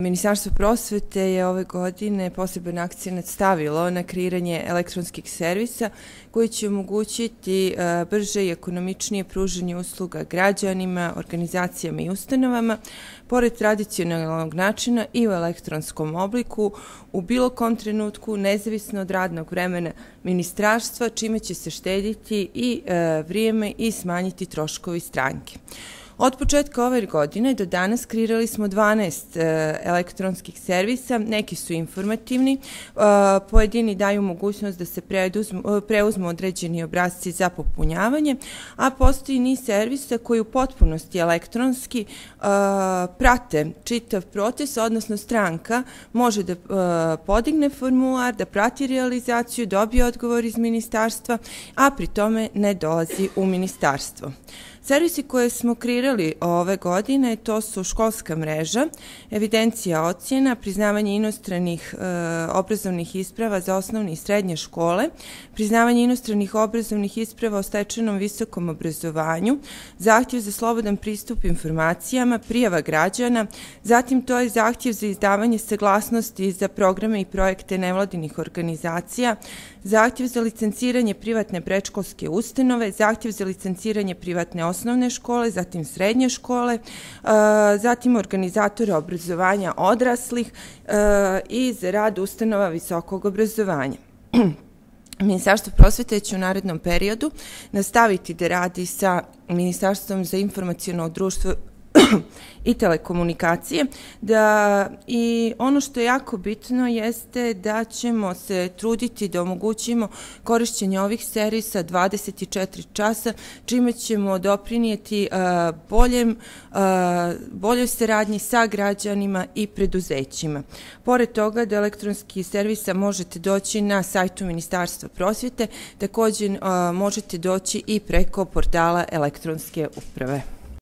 Ministarstvo prosvete je ove godine poseban akcenat stavilo na kreiranje elektronskih servisa koji će omogućiti brže i ekonomičnije pružanje usluga građanima, organizacijama i ustanovama, pored tradicionalnog načina i u elektronskom obliku, u bilo kom trenutku, nezavisno od radnog vremena ministarstva, čime će se štediti i vrijeme i smanjiti troškovi stranke. Od početka ove godine do danas kreirali smo 12 elektronskih servisa, neki su informativni, pojedini daju mogućnost da se preuzmu određeni obrasci za popunjavanje, a postoji niz servisa koji u potpunosti elektronski prate čitav proces, odnosno stranka može da podigne formular, da prati realizaciju, dobije odgovor iz ministarstva, a pri tome ne dolazi u ministarstvo. Servisi koje smo kreirali ove godine to su školska mreža, evidencija ocjena, priznavanje inostranih obrazovnih isprava za osnovne i srednje škole, priznavanje inostranih obrazovnih isprava o stečenom visokom obrazovanju, zahtjev za slobodan pristup informacijama, prijava građana, zatim to je zahtjev za izdavanje saglasnosti za programe i projekte nevladinih organizacija, zahtjev za licenciranje privatne predškolske ustanove, zahtjev za licenciranje privatne osnovne škole, zatim srednje škole, zatim organizatora obrazovanja odraslih i za rad ustanova visokog obrazovanja. Ministarstvo prosvete će u narednom periodu nastaviti da radi sa Ministarstvom za informaciono društvo i telekomunikacije, i ono što je jako bitno jeste da ćemo se truditi da omogućimo korišćenje ovih servisa 24 časa, čime ćemo doprinijeti boljoj saradnji sa građanima i preduzećima. Pored toga, do elektronskih servisa možete doći na sajtu Ministarstva prosvete, također možete doći i preko portala elektronske uprave.